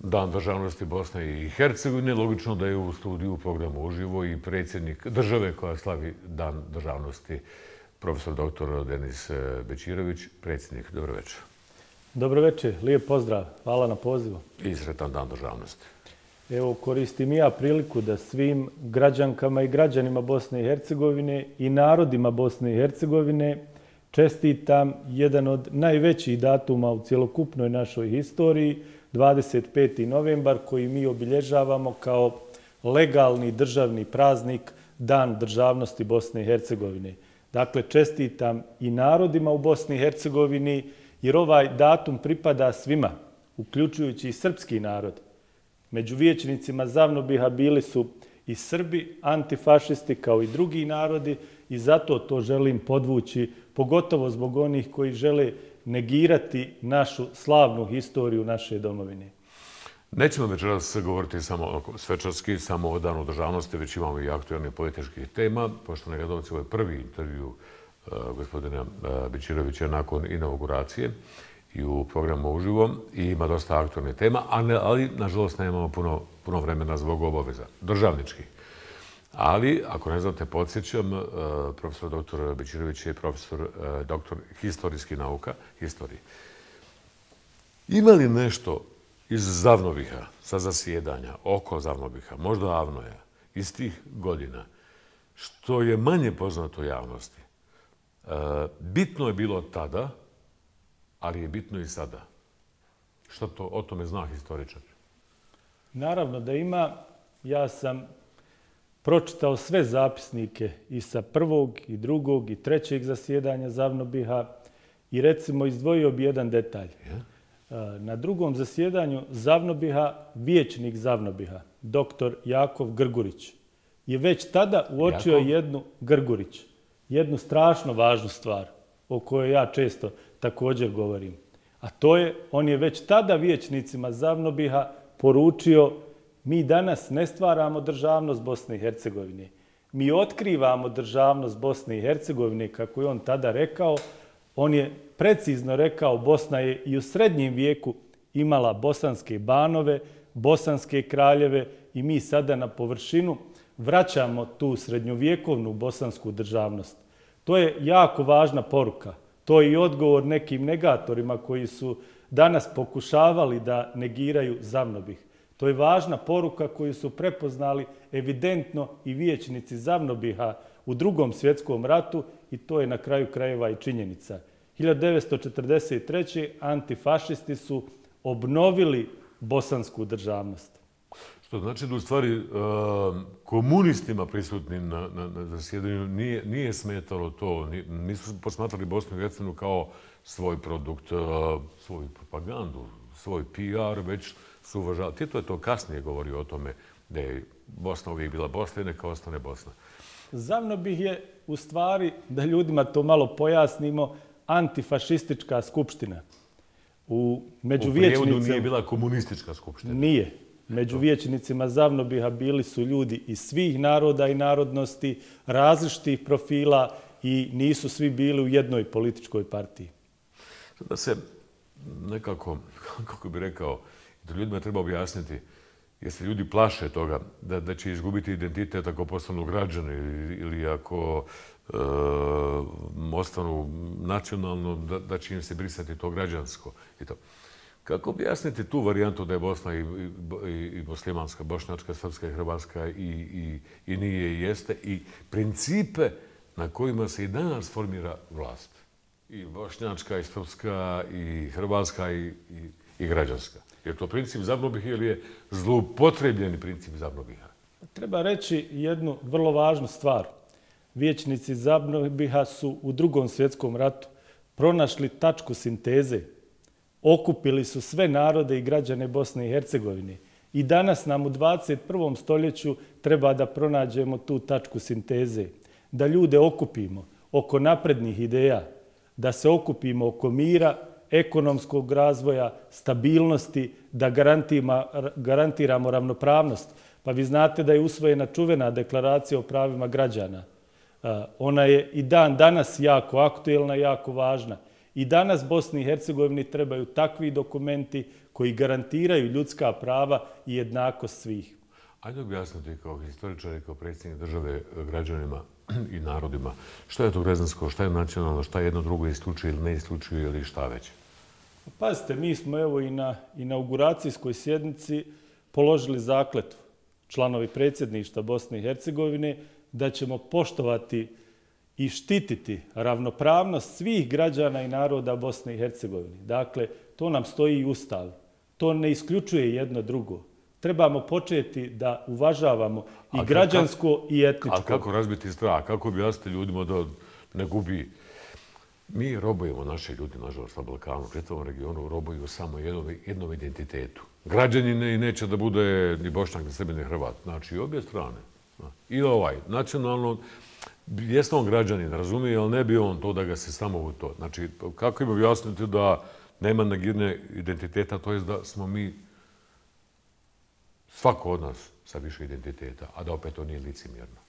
Dan državnosti Bosne i Hercegovine. Logično da je u studiju u programu uživo i predsjednik države koja slavi Dan državnosti, profesor dr. Denis Bećirović. Predsjednik, dobro večer. Dobro večer, lijep pozdrav. Hvala na pozivu. I sretan Dan državnosti. Evo, koristim i ja priliku da svim građankama i građanima Bosne i Hercegovine i narodima Bosne i Hercegovine čestitam jedan od najvećih datuma u cjelokupnoj našoj historiji, 25. novembar, koji mi obilježavamo kao legalni državni praznik Dan državnosti Bosne i Hercegovine. Dakle, čestitam i narodima u Bosni i Hercegovini, jer ovaj datum pripada svima, uključujući i srpski narod. Među vijećnicima Zavnobiha bili su i Srbi, antifašisti kao i drugi narodi i zato to želim podvući, pogotovo zbog onih koji žele negirati našu slavnu historiju naše domovine. Nećemo večeras govoriti samo svečarski, samo o Danu državnosti, već imamo i aktualnih političkih tema. Poštovani gledalci, ovo je prvi intervju gospodina Bećirovića nakon inauguracije i u programu uživo i ima dosta aktualnih tema, ali nažalost nemamo puno vremena zbog obaveza državničkih. Ali, ako ne znate, podsjećam, profesor dr. Bećirović je profesor doktor historijskih nauka, historije. Ima li nešto iz Zavnobiha, sa zasjedanja, oko Zavnobiha, možda Avnoja, iz tih godina, što je manje poznato javnosti? Bitno je bilo tada, ali je bitno i sada. Što to o tome zna historičar? Naravno da ima. Ja sam pročitao sve zapisnike i sa prvog, i drugog, i trećeg zasjedanja Zavnobiha i recimo izdvojio bi jedan detalj. Na drugom zasjedanju Zavnobiha, vijećnik Zavnobiha, dr. Jakov Grgurić, je već tada uočio jednu strašno važnu stvar o kojoj ja često također govorim. A to je, on je već tada vijećnicima Zavnobiha poručio: mi danas ne stvaramo državnost Bosne i Hercegovine. Mi otkrivamo državnost Bosne i Hercegovine, kako je on tada rekao. On je precizno rekao, Bosna je i u srednjem vijeku imala bosanske banove, bosanske kraljeve i mi sada na površinu vraćamo tu srednjovjekovnu bosansku državnost. To je jako važna poruka. To je i odgovor nekim negatorima koji su danas pokušavali da negiraju Zavnobih. To je važna poruka koju su prepoznali evidentno i vijećnici Zavnobiha u Drugom svjetskom ratu i to je na kraju krajeva i činjenica. 1943. antifašisti su obnovili bosansku državnost. Što znači da u stvari komunistima prisutnim na zasjedanju nije smetalo to, nisu posmatrali Bosnu i Hercegovinu kao svoj produkt, svoju propagandu, svoj PR, već su uvažali. Tito je to kasnije govorio o tome da je Bosna uvijek bila Bosna i neka ostane Bosna. Zavnobih je u stvari, da ljudima to malo pojasnimo, antifašistička skupština. U prijevodu nije bila komunistička skupština. Nije. Među vijećnicima Zavnobiha bili su ljudi iz svih naroda i narodnosti, različitih profila i nisu svi bili u jednoj političkoj partiji. Da se nekako, kako bih rekao, da ljudima treba objasniti, jer se ljudi plaše toga da će izgubiti identitet ako postanu građani ili ako ostanu nacionalno, da će im se brisati to građansko i to. Kako objasniti tu varijantu da je Bosna i muslimanska, bošnjačka, srpska i hrvatska i nije i jeste i principe na kojima se i danas formira vlast? I bošnjačka, i srpska, i hrvatska, i građanska. Je to princip Zavnobiha ili je zloupotrebljeni princip Zavnobiha? Treba reći jednu vrlo važnu stvar. Vijećnici Zavnobiha su u Drugom svjetskom ratu pronašli tačku sinteze. Okupili su sve narode i građane Bosne i Hercegovine. I danas nam u 21. stoljeću treba da pronađemo tu tačku sinteze. Da ljude okupimo oko naprednih ideja, da se okupimo oko mira, ekonomskog razvoja, stabilnosti, da garantiramo ravnopravnost. Pa vi znate da je usvojena čuvena deklaracija o pravima građana. Ona je i dan danas jako aktuelna, jako važna. I danas Bosni i Hercegovini trebaju takvi dokumenti koji garantiraju ljudska prava i jednakost svih. Ajde objasniti kao historičar i kao predsjednik države građanima i narodima šta je to građansko, šta je nacionalno, šta jedno drugo isključuje ili ne isključuje ili šta već? Pazite, mi smo evo i na inauguracijskoj sjednici položili zakletvu, članovi predsjedništva Bosne i Hercegovine, da ćemo poštovati i štititi ravnopravnost svih građana i naroda Bosne i Hercegovine. Dakle, to nam stoji i u Ustavu. To ne isključuje jedno drugo. Trebamo početi da uvažavamo i građansko i etničko. A kako razbiti strah? Kako objasniti ljudima da ne gubi? Mi robujemo naše ljudi, nažalost, na Balkanu, u čitavom regionu, robuju samo jednom identitetu. Građanin neće da bude ni Bošnjak, ni Srbin, ni Hrvat. Znači, i obje strane. I ovaj, nacionalno, jesno on građanin, razumije, ali ne bi on to da ga se samo u to. Znači, kako im objasniti da nema negirne identiteta, to je da smo mi svako od nas sa više identiteta, a da opet to nije licemjerno.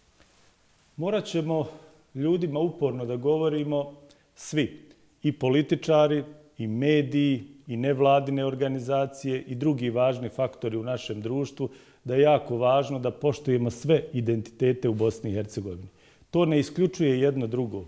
Morat ćemo ljudima uporno da govorimo svi, i političari, i mediji, i nevladine organizacije, i drugi važni faktori u našem društvu, da je jako važno da poštujemo sve identitete u Bosni i Hercegovini. To ne isključuje jedno drugo.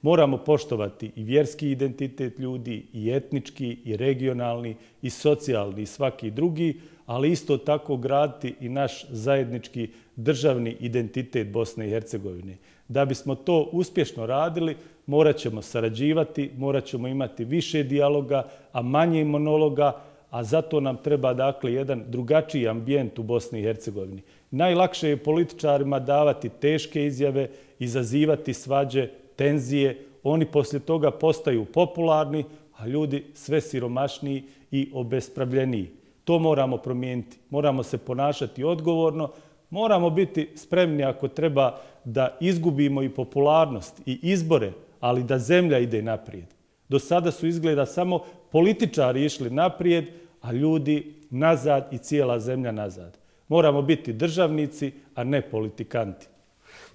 Moramo poštovati i vjerski identitet ljudi, i etnički, i regionalni, i socijalni, i svaki drugi, ali isto tako graditi i naš zajednički državni identitet Bosne i Hercegovine. Da bismo to uspješno radili, morat ćemo sarađivati, morat ćemo imati više dijaloga, a manje monologa, a zato nam treba dakle jedan drugačiji ambijent u Bosni i Hercegovini. Najlakše je političarima davati teške izjave, izazivati svađe, tenzije, oni poslije toga postaju popularni, a ljudi sve siromašniji i obespravljeniji. To moramo promijeniti. Moramo se ponašati odgovorno, moramo biti spremni ako treba da izgubimo i popularnost i izbore, ali da zemlja ide naprijed. Do sada su izgleda samo političari išli naprijed, a ljudi nazad i cijela zemlja nazad. Moramo biti državnici, a ne politikanti.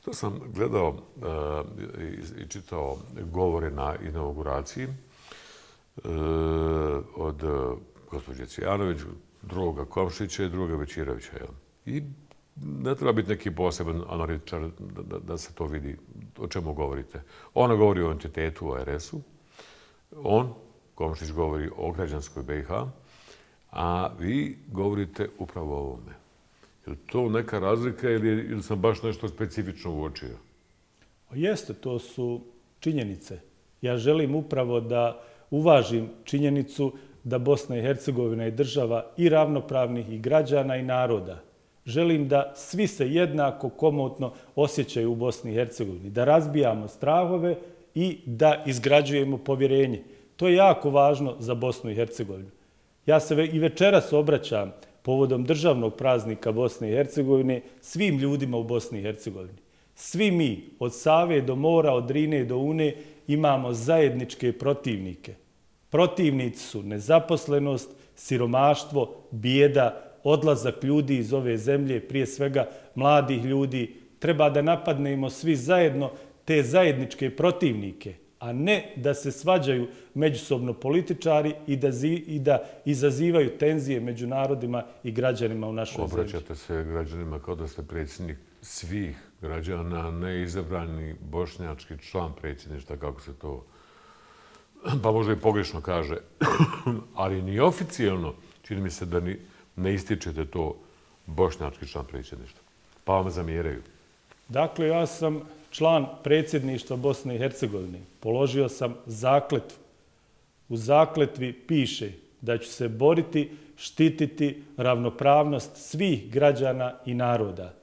To sam gledao i čitao govore na inauguraciji od gospođe Cvijanović, drugoga Komšića i drugoga Bećirovića. I ne treba biti neki poseban analitičar da se to vidi o čemu govorite. Ona govori o entitetu, o RS-u. On, Komšić, govori o građanskoj BiH, a vi govorite upravo o ovome. Je li to neka razlika ili sam baš nešto specifično uočio? Jeste, to su činjenice. Ja želim upravo da uvažim činjenicu da Bosna i Hercegovina je država i ravnopravnih i građana i naroda. Želim da svi se jednako komotno osjećaju u Bosni i Hercegovini, da razbijamo strahove i da izgrađujemo povjerenje. To je jako važno za Bosnu i Hercegovinu. Ja se i večeras obraćam povodom državnog praznika Bosne i Hercegovine svim ljudima u Bosni i Hercegovini. Svi mi, od Save do mora, od Drine do Une, imamo zajedničke protivnike. Protivnici su nezaposlenost, siromaštvo, bijeda, odlazak ljudi iz ove zemlje, prije svega mladih ljudi. Treba da napadnemo svi zajedno te zajedničke protivnike, a ne da se svađaju međusobno političari i da izazivaju tenzije među narodima i građanima u našoj zemlji. Obraćate se građanima kao da ste predsjednik svih građana, ne izabrani bošnjački član predsjedništva, kako se to, pa možda i pogrešno kaže, ali ni oficijalno, čini mi se da ne ističete to bošnjački član predsjedništva, pa vam zamjeraju. Dakle, ja sam član predsjedništva Bosne i Hercegovine. Položio sam zakletvu. U zakletvi piše da ću se boriti, štititi ravnopravnost svih građana i naroda.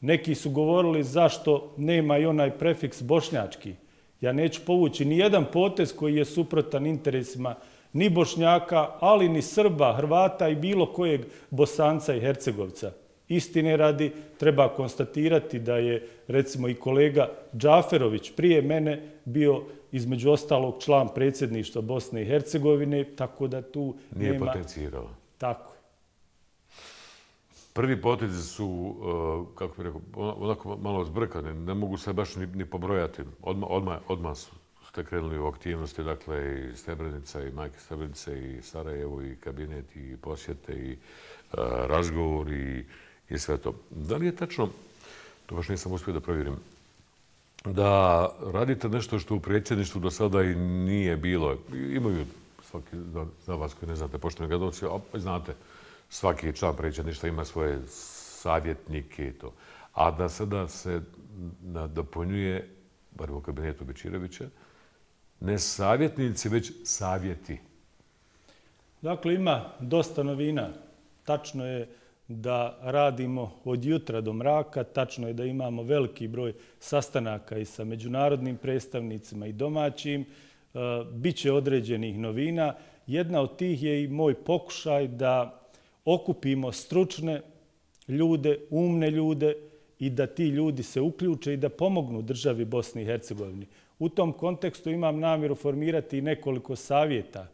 Neki su govorili zašto nema i onaj prefiks bošnjački. Ja neću povući ni jedan potez koji je suprotan interesima ni Bošnjaka, ali ni Srba, Hrvata i bilo kojeg Bosanca i Hercegovca. Istine radi, treba konstatirati da je, recimo, i kolega Džaferović prije mene bio, između ostalog, član predsjedništva Bosne i Hercegovine, tako da tu nije nema... potencirao. Tako. Prvi potezi su, kako bih rekao, onako malo zbrkane, ne mogu se baš ni pobrojati. Odmah ste krenuli u aktivnosti, dakle, i Srebrenica, i Majke Srebrenice, i Sarajevo, i kabinet, i posjete, i razgovor, i sve to. Da li je tačno, to baš nisam uspio da provjerim, da radite nešto što u predsjedništvu do sada i nije bilo? Imaju svaki, za vas koji ne znate, poštovani gledalci, znate, svaki član predsjedništva ima svoje savjetnike i to. A da sada se nadopunjuje, bar u kabinetu Bečirovića, ne savjetnici, već savjeti. Dakle, ima dosta novina. Tačno je da radimo od jutra do mraka, tačno je da imamo veliki broj sastanaka i sa međunarodnim predstavnicima i domaćim. Biće određenih novina. Jedna od tih je i moj pokušaj da okupimo stručne ljude, umne ljude i da ti ljudi se uključe i da pomognu državi Bosni i Hercegovini. U tom kontekstu imam namjeru formirati i nekoliko savjeta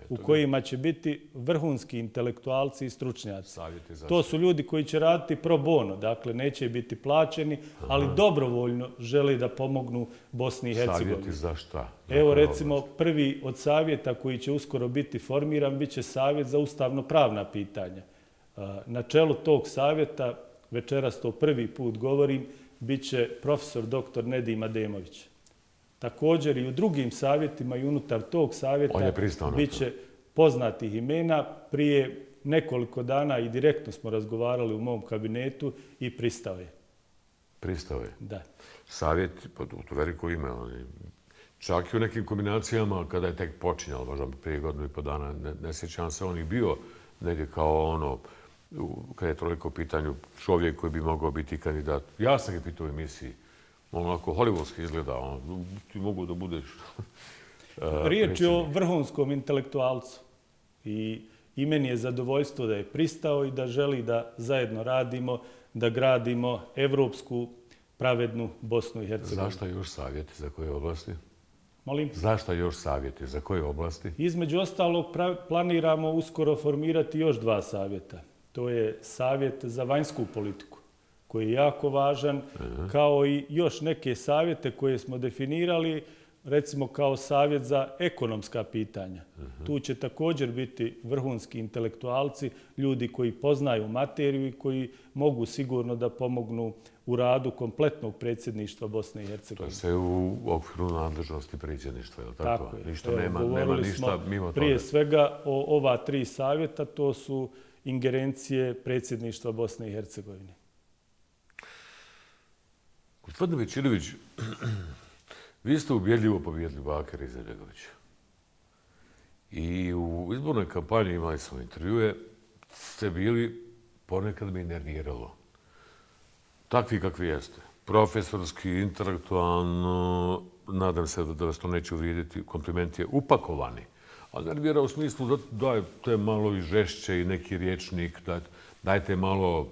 u kojima će biti vrhunski intelektualci i stručnjaci. To su ljudi koji će raditi pro bono, dakle neće biti plaćeni, ali dobrovoljno žele da pomognu Bosni i Hercegovini. Savjeti za šta? Evo recimo prvi od savjeta koji će uskoro biti formiran biće savjet za ustavno-pravna pitanja. Na čelu tog savjeta, večeras to prvi put govorim, biće profesor dr. Nedim Ademović. Također i u drugim savjetima i unutar tog savjeta biće poznatih imena. Prije nekoliko dana i direktno smo razgovarali u mom kabinetu i pristao je. Pristao je? Da. Savjet, to veliko ime, čak i u nekim kombinacijama kada je tek počinjalo, možda prije godinu i po dana, ne sjećam se, on i bio negdje kao ono, kada je toliko u pitanju čovjek koji bi mogao biti kandidat. Ja sam ga pitao u emisiji, onako hollywoodski izgleda, ti mogu da budeš... Riječ je o vrhunskom intelektualcu i meni je zadovoljstvo da je pristao i da želi da zajedno radimo, da gradimo evropsku, pravednu Bosnu i Hercegovinu. Zašto još savjeti? Za koje oblasti? Molim? Zašto još savjeti? Za koje oblasti? Između ostalog planiramo uskoro formirati još 2 savjeta. To je savjet za vanjsku politiku, koji je jako važan, kao i još neke savjete koje smo definirali, recimo kao savjet za ekonomska pitanja. Tu će također biti vrhunski intelektualci, ljudi koji poznaju materiju i koji mogu sigurno da pomognu u radu kompletnog predsjedništva Bosne i Hercegovine. To je sve u okviru nadležnosti predsjedništva, je li tako? Tako je. Ništa nema ništa mimo toga. Prije svega o ova 3 savjeta, to su ingerencije predsjedništva Bosne i Hercegovine. Gospodine Bečirović, vi ste ubjedljivo pobjedili Bakira Izetbegovića. I u izbornoj kampanji, imali smo intervjue, ste bili, ponekad me nerviralo. Takvi kakvi jeste. Profesorski, intelektualno, nadam se da vas to neće uvrijediti, kompliment je upakovani. Ali nervira u smislu da dajte malo i žešće i neki riječnik, dajte malo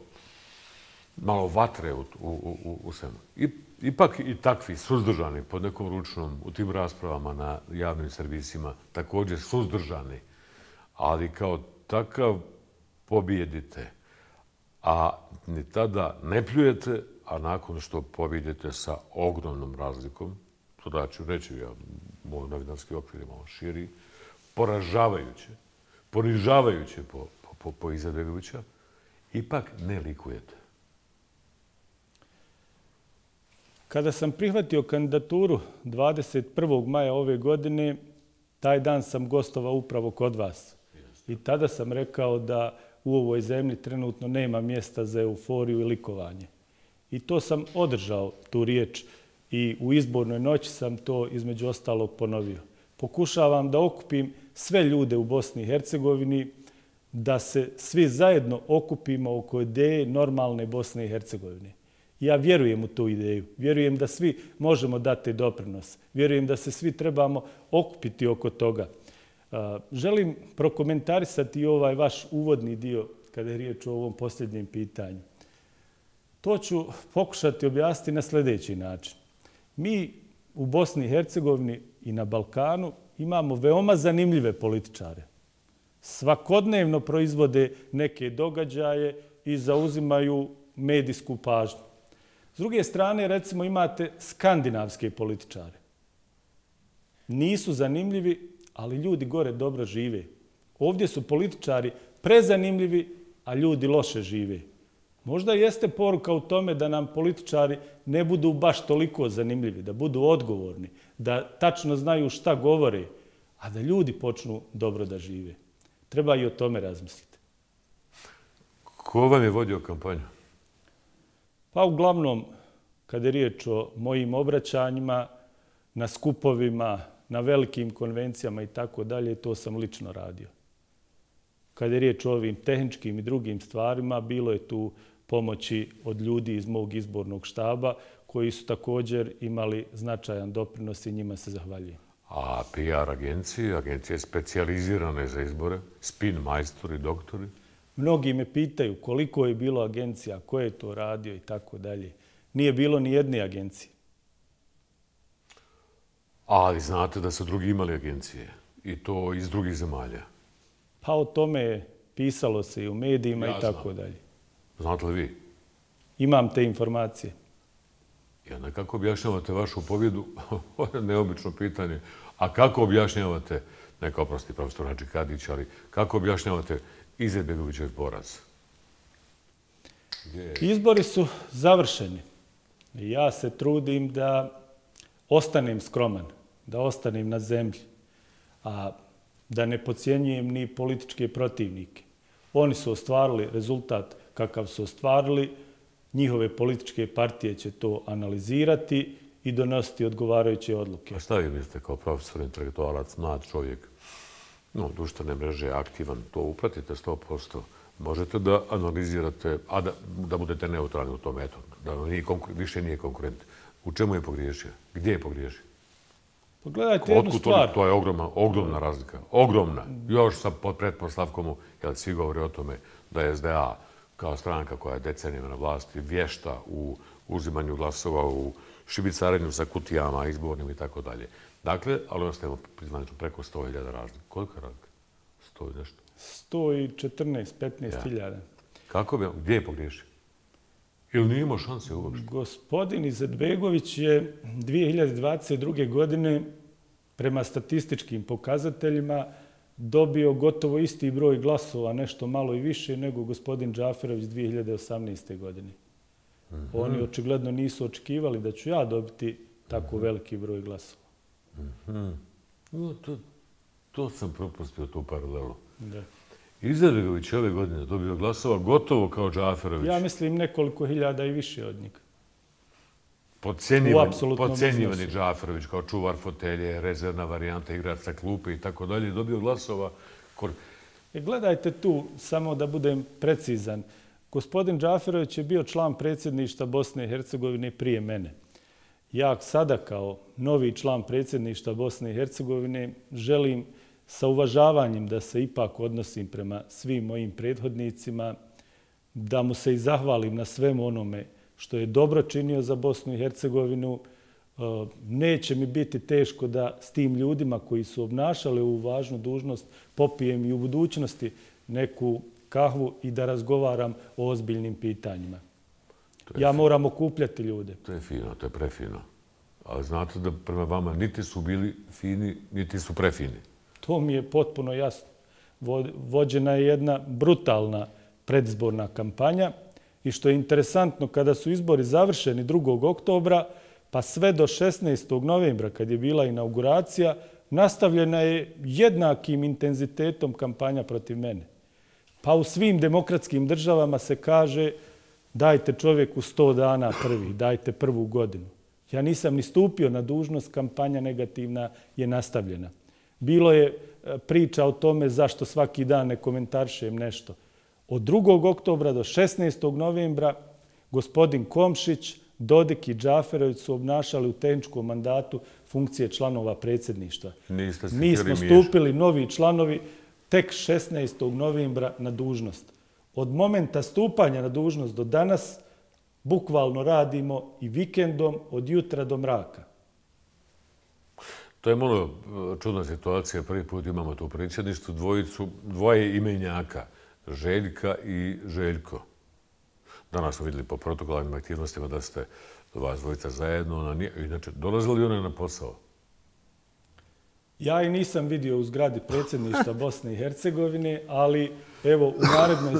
vatre u svemu. Ipak i takvi suzdržani pod nekom ručnom u tim raspravama na javnim servisima, također suzdržani, ali kao takav pobjedite, a ni tada ne pljujete, a nakon što pobjedite sa ogromnom razlikom, to da ću reći, moj novinarski okvir je malo širi, ponižavajuće po Izetbegovića, ipak ne likujete. Kada sam prihvatio kandidaturu 21. maja ove godine, taj dan sam gostovao upravo kod vas. I tada sam rekao da u ovoj zemlji trenutno nema mjesta za euforiju i likovanje. I to sam održao, tu riječ, i u izbornoj noći sam to između ostalog ponovio. Pokušavam da okupim sve ljude u Bosni i Hercegovini, da se svi zajedno okupimo oko ideje normalne Bosne i Hercegovine. Ja vjerujem u tu ideju. Vjerujem da svi možemo dati doprinos. Vjerujem da se svi trebamo okupiti oko toga. Želim prokomentarisati ovaj vaš uvodni dio kada je riječ o ovom posljednjem pitanju. To ću pokušati objasniti na sljedeći način. Mi u Bosni i Hercegovini i na Balkanu imamo veoma zanimljive političare. Svakodnevno proizvode neke događaje i zauzimaju medijsku pažnju. S druge strane, recimo, imate skandinavske političare. nisu zanimljivi, ali ljudi gore dobro žive. Ovdje su političari prezanimljivi, a ljudi loše žive. Možda jeste poruka u tome da nam političari ne budu baš toliko zanimljivi, da budu odgovorni, da tačno znaju šta govore, a da ljudi počnu dobro da žive. Treba i o tome razmisliti. Ko vam je vodio kampanju? Pa uglavnom, kada je riječ o mojim obraćanjima, na skupovima, na velikim konvencijama i tako dalje, to sam lično radio. Kada je riječ o ovim tehničkim i drugim stvarima, bilo je tu pomoći od ljudi iz mog izbornog štaba koji su također imali značajan doprinos i njima se zahvaljujem. A PR agencije specijalizirane za izbore, spin majstori, doktori? Mnogi me pitaju koliko je bilo agencija, ko je to radio i tako dalje. Nije bilo ni jedne agencije. Ali znate da su drugi imali agencije i to iz drugih zemalja. Pa o tome pisalo se i u medijima i tako dalje. Znate li vi? Imam te informacije. I onda kako objašnjavate vašu pobjedu? Ovo je neobično pitanje. A kako objašnjavate, neka oprosti profesor Hadži Kadić, ali kako objašnjavate Izetbegovićev poraz? Izbori su završeni. Ja se trudim da ostanem skroman, da ostanem na zemlji, a da ne podcjenjujem ni političke protivnike. Oni su ostvarili rezultat kakav su ostvarili, njihove političke partije će to analizirati i donositi odgovarajuće odluke. A šta vi mislite kao profesor, intelektualac, mlad čovjek, društvene mreže, aktivan, to upratite 100%, možete da analizirate, a da budete neutralni u tom, eto, da više nije konkurent. U čemu je pogriješio? Gdje je pogriješio? Pogledajte jednu stvar. To je ogromna razlika. Ogromna. Još sa pretpostavkom, jer svi govore o tome da je SDA kao stranka koja je decenijama na vlasti vješta u uzimanju glasova, u šibicarenju sa kutijama, izbornim i tako dalje. Dakle, ali ostajemo priznanično preko 100.000 razlika. Koliko je razlika? 100 i nešto? 114, 15.000. Kako bi? Gdje je pogriješio? Ili nije imao šanse uopšte? Gospodin Izetbegović je 2022. godine prema statističkim pokazateljima dobio gotovo isti broj glasova, nešto malo i više, nego gospodin Džaferović 2018. godine. Oni očigledno nisu očekivali da ću ja dobiti tako veliki broj glasova. To sam propustio, tu paralelu. Da. Izetbegović ove godine dobio glasova gotovo kao Džaferović. Ja mislim nekoliko hiljada i više od njega. Podcenjivani Džaferović kao čuvar fotelje, rezervna varijanta, igrač sa klupe i tako dalje, dobio glasova. Gledajte tu, samo da budem precizan. Gospodin Džaferović je bio član predsjedništva Bosne i Hercegovine prije mene. Ja sada kao novi član predsjedništva Bosne i Hercegovine želim sa uvažavanjem da se ipak odnosim prema svim mojim prethodnicima, da mu se i zahvalim na svemu onome što je dobro činio za Bosnu i Hercegovinu. Neće mi biti teško da s tim ljudima koji su obnašali ovu važnu dužnost popijem i u budućnosti neku kahvu i da razgovaram o ozbiljnim pitanjima. Ja moram okupljati ljude. To je fino, to je prefino. Ali znate da prema vama niti su bili fini, niti su prefini. To mi je potpuno jasno. Vođena je jedna brutalna predizborna kampanja i što je interesantno, kada su izbori završeni 2. oktobra, pa sve do 16. novembra, kad je bila inauguracija, nastavljena je jednakim intenzitetom kampanja protiv mene. Pa u svim demokratskim državama se kaže dajte čovjeku 100 dana prvi, dajte prvu godinu. Ja nisam ni stupio na dužnost, kampanja negativna je nastavljena. Bilo je priča o tome zašto svaki dan ne komentarišem nešto. Od 2. oktobra do 16. novembra gospodin Komšić, Dodik i Džaferović su obnašali u tehničkom mandatu funkcije članova predsjedništva. Mi smo stupili novi članovi tek 16. novembra na dužnost. Od momenta stupanja na dužnost do danas bukvalno radimo i vikendom od jutra do mraka. To je malo čudna situacija. Prvi put imamo tu predsjedništvu dvoje imenjaka, Željka i Željko. Danas smo vidjeli po protokolarnim aktivnostima da ste vas dvojica zajedno. Inače, dolazili one na posao? Ja i nisam vidio u zgradi predsjedništva Bosne i Hercegovine, ali evo u narednoj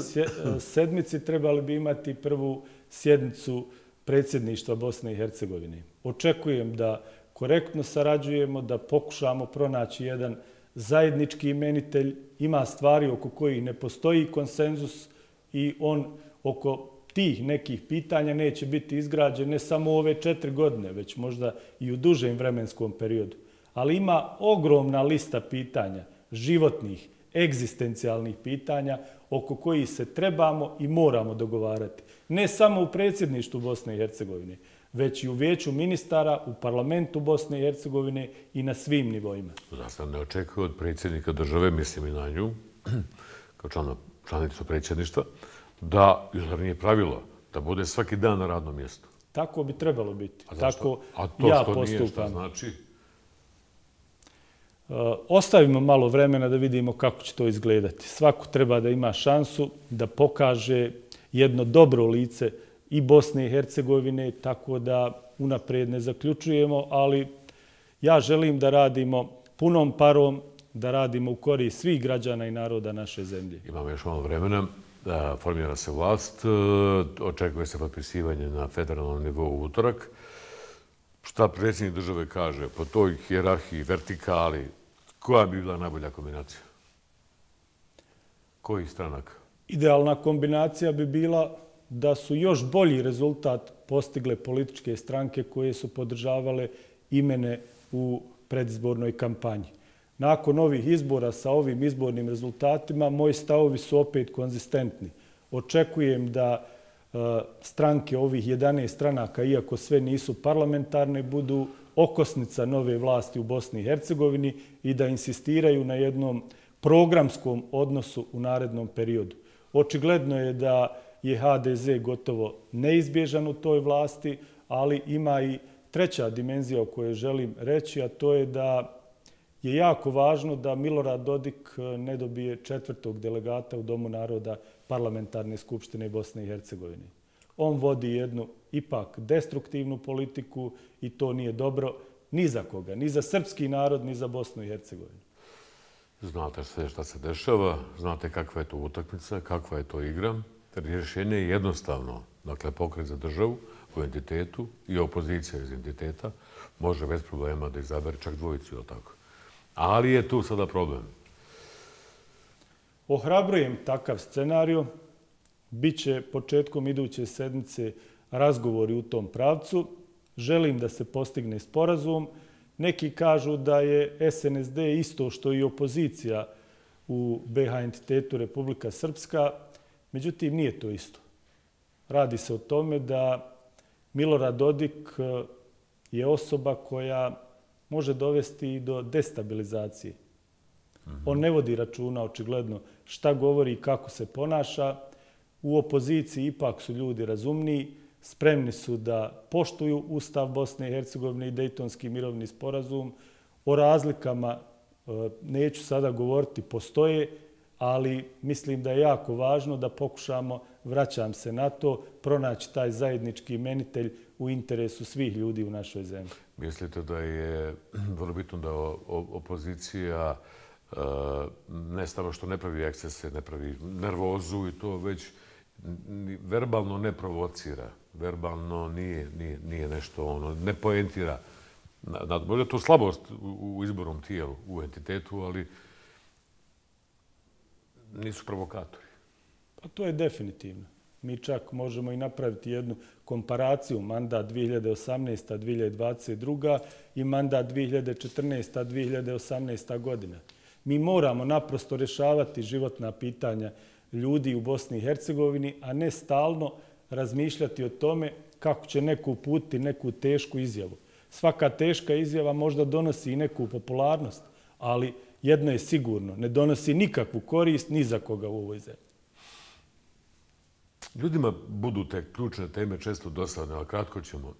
sedmici trebali bi imati prvu sjednicu predsjedništva Bosne i Hercegovine. Očekujem da korektno sarađujemo, da pokušamo pronaći jedan zajednički imenitelj. Ima stvari oko kojih ne postoji konsenzus i on oko tih nekih pitanja neće biti izgrađen ne samo u ove 4 godine, već možda i u dužem vremenskom periodu. Ali ima ogromna lista pitanja, životnih, egzistencijalnih pitanja oko kojih se trebamo i moramo dogovarati. Ne samo u predsjedništvu Bosne i Hercegovine, već i u vijeću ministara, u parlamentu Bosne i Hercegovine i na svim nivoima. Zašto ne očekuje od predsjednika države, mislim i na nju, kao članicu predsjedništva, da, jer nije pravilo, da bude svaki dan na radnom mjestu. Tako bi trebalo biti. Tako ja postupam. A to što nije, šta znači? Ostavimo malo vremena da vidimo kako će to izgledati. Svako treba da ima šansu da pokaže jedno dobro lice i Bosne i Hercegovine, tako da unaprijed ne zaključujemo, ali ja želim da radimo punom parom, da radimo u korist svih građana i naroda naše zemlje. Imamo još malo vremena. Formira se vlast, očekuje se potpisivanje na federalnom nivou u utorak. Šta predsjednik države kaže po toj hijerarhiji, vertikali, koja bi bila najbolja kombinacija? Kojih stranaka? Idealna kombinacija bi bila da su još bolji rezultat postigle političke stranke koje su podržavale imene u predizbornoj kampanji. Nakon ovih izbora sa ovim izbornim rezultatima, moji stavovi su opet konzistentni. Očekujem da stranke ovih 11 stranaka, iako sve nisu parlamentarne, budu okosnica nove vlasti u Bosni i Hercegovini i da insistiraju na jednom programskom odnosu u narednom periodu. Očigledno je da je HDZ gotovo neizbježan u toj vlasti, ali ima i treća dimenzija o kojoj želim reći, a to je da je jako važno da Milorad Dodik ne dobije 4. delegata u Domu naroda Parlamentarne skupštine Bosne i Hercegovine. On vodi jednu ipak destruktivnu politiku i to nije dobro ni za koga, ni za srpski narod, ni za Bosnu i Hercegovinu. Znate sve šta se dešava, znate kakva je to utakmica, kakva je to igra. Rješenje je jednostavno, dakle pokret za državu u entitetu i opozicija iz entiteta može bez problema da izabere čak dvojicu ili tako. Ali je tu sada problem. Ohrabrujem takav scenariju. Biće početkom iduće sedmice razgovori u tom pravcu. Želim da se postigne sporazum. Neki kažu da je SNSD isto što i opozicija u BiH entitetu Republika Srpska. Međutim, nije to isto. Radi se o tome da Milorad Dodik je osoba koja može dovesti i do destabilizacije. On ne vodi računa, očigledno, šta govori i kako se ponaša. U opoziciji ipak su ljudi razumniji, spremni su da poštuju Ustav Bosne i Hercegovine i Dejtonski mirovni sporazum. O razlikama neću sada govoriti, postoje, ali mislim da je jako važno da pokušamo, vraćam se na to, pronaći taj zajednički imenitelj u interesu svih ljudi u našoj zemlji. Mislite da je vrlo bitno da opozicija ne samo što ne pravi ekscese, ne pravi nervozu i to već verbalno ne provocira, verbalno nije nešto, ne poentira. Možda je to slabost u izbornom tijelu, u entitetu, ali nisu provokatori. Pa to je definitivno. Mi čak možemo i napraviti jednu komparaciju mandat 2018-2022 i mandat 2014-2018 godina. Mi moramo naprosto rješavati životna pitanja ljudi u Bosni i Hercegovini, a ne stalno razmišljati o tome kako će neko uputiti neku tešku izjavu. Svaka teška izjava možda donosi i neku popularnost, ali jedno je sigurno, ne donosi nikakvu korist ni za koga u ovoj zemlji. Ljudima budu te ključne teme često dosadne, ali kratko ćemo,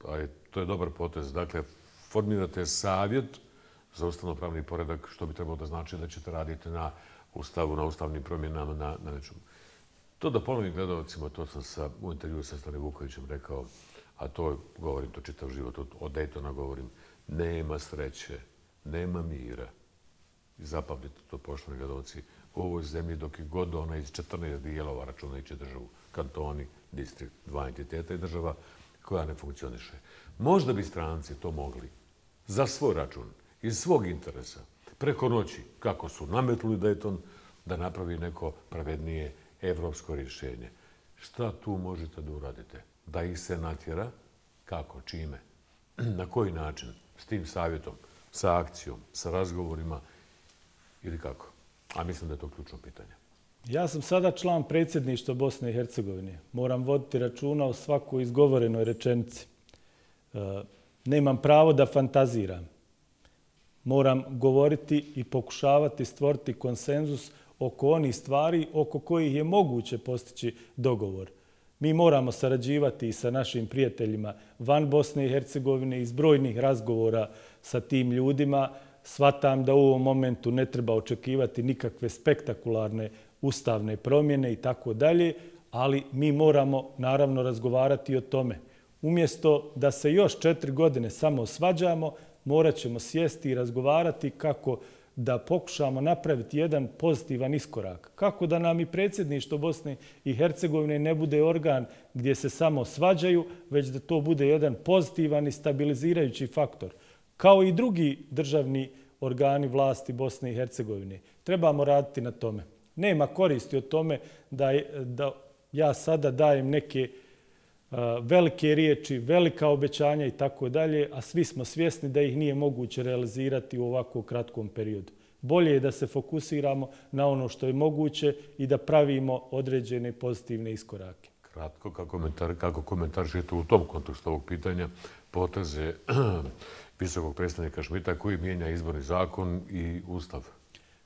a to je dobar potez. Dakle, formirate savjet za ustavno-pravni poredak, što bi trebalo da znači da ćete raditi na ustavu, na ustavnim promjenama, na nečemu. To da ponovim gledalcima, to sam u intervju sa Stanim Vukovićem rekao, a to govorim, to čitav život, od Daytona govorim, nema sreće Nema mira. I zapamtite to, poštovani gledalci, u ovoj zemlji dok je god ona iz 14 dijelova računajući državu, kantoni, distrikt, dva entiteta i država koja ne funkcioniše. Možda bi stranci to mogli za svoj račun, iz svog interesa, preko noći, kako su nametnuli Dayton, da napravi neko pravednije evropsko rješenje. Šta tu možete da uradite? Da ih se natjera? Kako? Čime? Na koji način? S tim savjetom? Sa akcijom? Sa razgovorima? Ili kako? A mislim da je to ključno pitanje. Ja sam sada član predsjedništva Bosne i Hercegovine. Moram voditi računa o svakoj izgovorenoj rečenici. Nemam pravo da fantaziram. Moram govoriti i pokušavati stvoriti konsenzus oko onih stvari oko kojih je moguće postići dogovor. Mi moramo sarađivati i sa našim prijateljima van Bosne i Hercegovine iz brojnih razgovora sa tim ljudima. Shvatam da u ovom momentu ne treba očekivati nikakve spektakularne ustavne promjene i tako dalje, ali mi moramo naravno razgovarati o tome. Umjesto da se još 4 godine samo svađamo, morat ćemo sjesti i razgovarati kako da pokušamo napraviti jedan pozitivan iskorak. Kako da nam i predsjedništvo Bosne i Hercegovine ne bude organ gdje se samo svađaju, već da to bude jedan pozitivan i stabilizirajući faktor. Kao i drugi državni organi vlasti Bosne i Hercegovine. Trebamo raditi na tome. Nema koristi od tome da ja sada dajem neke velike riječi, velika obećanja i tako dalje, a svi smo svjesni da ih nije moguće realizirati u ovako kratkom periodu. Bolje je da se fokusiramo na ono što je moguće i da pravimo određene pozitivne iskorake. Kratko, kako komentarišete u tom kontekstu ovog pitanja poteze visokog predstavnika Šmita koji mijenja izborni zakon i ustav?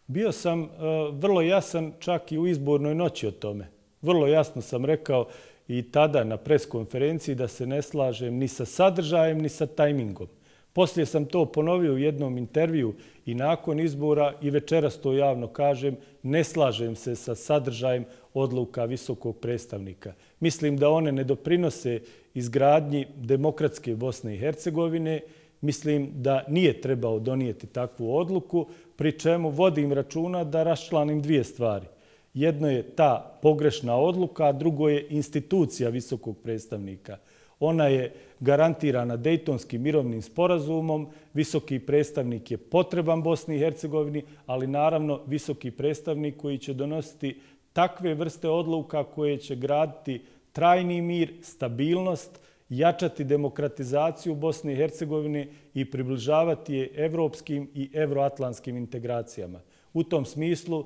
Bio sam vrlo jasan čak i u izbornoj noći o tome. Vrlo jasno sam rekao i tada na preskonferenciji da se ne slažem ni sa sadržajem, ni sa tajmingom. Poslije sam to ponovio u jednom intervju i nakon izbora i večeras to javno kažem, ne slažem se sa sadržajem odluka visokog predstavnika. Mislim da one ne doprinose izgradnji demokratske Bosne i Hercegovine. Mislim da nije trebao donijeti takvu odluku, pri čemu vodim računa da raščlanim 2 stvari. Jedno je ta pogrešna odluka, a drugo je institucija visokog predstavnika. Ona je garantirana Dejtonskim mirovnim sporazumom, visoki predstavnik je potreban Bosni i Hercegovini, ali naravno visoki predstavnik koji će donositi takve vrste odluka koje će graditi trajni mir, stabilnost, jačati demokratizaciju Bosne i Hercegovine i približavati je evropskim i evroatlantskim integracijama. U tom smislu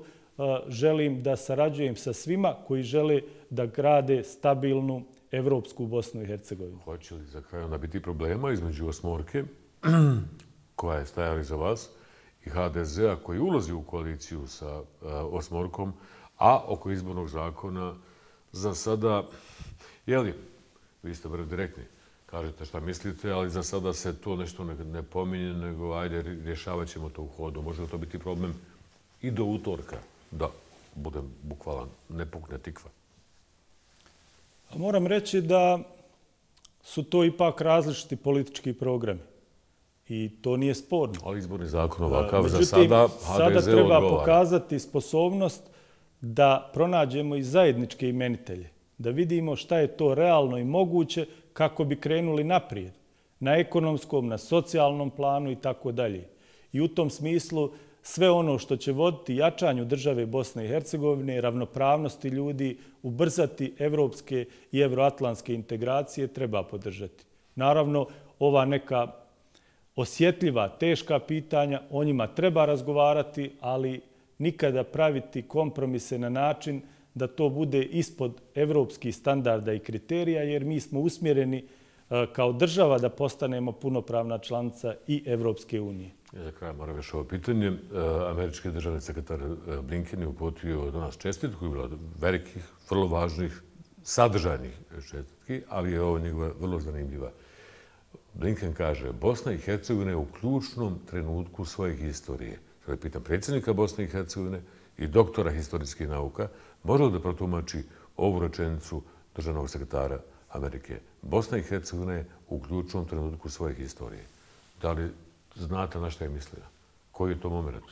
želim da sarađujem sa svima koji žele da grade stabilnu evropsku Bosnu i Hercegovinu. Hoće li za kraj onda biti problema između osmorke, koja je stajala iza vas, i HDZ-a koji ulazi u koaliciju sa osmorkom, a oko izbornog zakona za sada, jeli, vi ste vrlo direktni, kažete šta mislite, ali za sada se to nešto ne pominje, nego ajde, rješavat ćemo to u hodu. Može li to biti problem i do utorka, da budem bukvalan, ne pukne tikva? Moram reći da su to ipak različiti politički programi i to nije sporno. Ali izborni zakon ovakav za sada HDZ odgovara. Sada treba pokazati sposobnost da pronađemo i zajedničke imenitelje, da vidimo šta je to realno i moguće kako bi krenuli naprijed, na ekonomskom, na socijalnom planu i tako dalje. I u tom smislu sve ono što će voditi jačanju države Bosne i Hercegovine, ravnopravnosti ljudi, ubrzati evropske i evroatlantske integracije treba podržati. Naravno, ova neka osjetljiva, teška pitanja, o njima treba razgovarati, ali nikada praviti kompromise na način da to bude ispod evropskih standarda i kriterija, jer mi smo usmjereni kao država da postanemo punopravna članica i Evropske unije. Za kraj moram još ovo pitanje. Američki državni sekretar Blinken je uputio do nas čestitku, je bila velikih, vrlo važnih, sadržajnih čestitki, ali je ovo njegova vrlo zanimljiva. Blinken kaže, Bosna i Hercegovina je u ključnom trenutku svoje historije. Sada pitam predsjednika Bosne i Hercegovine i doktora historijskih nauka, može li da protumači ovu rečenicu državnog sekretara Amerike? Bosna i Hercegovina je u ključnom trenutku svoje historije. Da li znate na što je mislio? Koji je to moment?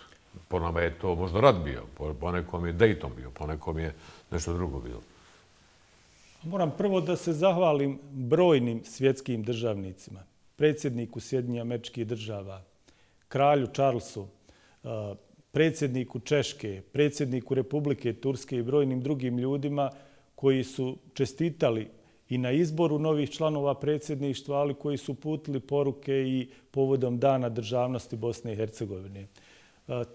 Po nama je to možda rat bio, po nekom je Dayton bio, po nekom je nešto drugo bilo. Moram prvo da se zahvalim brojnim svjetskim državnicima, predsjedniku Sjedinjenih Američkih Država, kralju Charlesu, predsjedniku Češke, predsjedniku Republike Turske i brojnim drugim ljudima koji su čestitali i na izboru novih članova predsjedništva, ali koji su uputili poruke i povodom Dana državnosti Bosne i Hercegovine.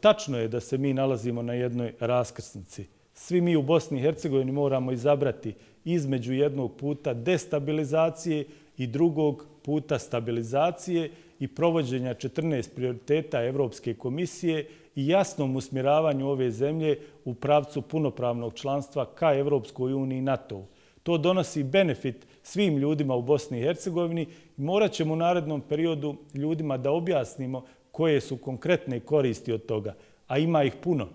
Tačno je da se mi nalazimo na jednoj raskrsnici. Svi mi u Bosni i Hercegovini moramo izabrati između jednog puta destabilizacije i drugog puta stabilizacije i provođenja 14 prioriteta Evropske komisije i jasnom usmjeravanju ove zemlje u pravcu punopravnog članstva ka Evropskoj uniji i NATO-u. To donosi benefit svim ljudima u Bosni i Hercegovini i morat ćemo u narednom periodu ljudima da objasnimo koje su konkretne koristi od toga, a ima ih puno.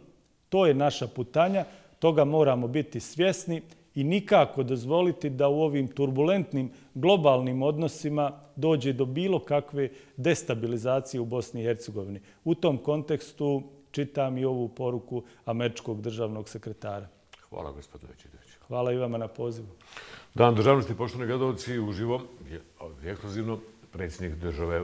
To je naša putanja, toga moramo biti svjesni i nikako dozvoliti da u ovim turbulentnim globalnim odnosima dođe do bilo kakve destabilizacije u Bosni i Hercegovini. U tom kontekstu čitam i ovu poruku američkog državnog sekretara. Hvala, gospodine Bećirović. Hvala i vama na pozivu. Dan državnosti, poštovani gledalci, uživo, ekskluzivno, predsjednik države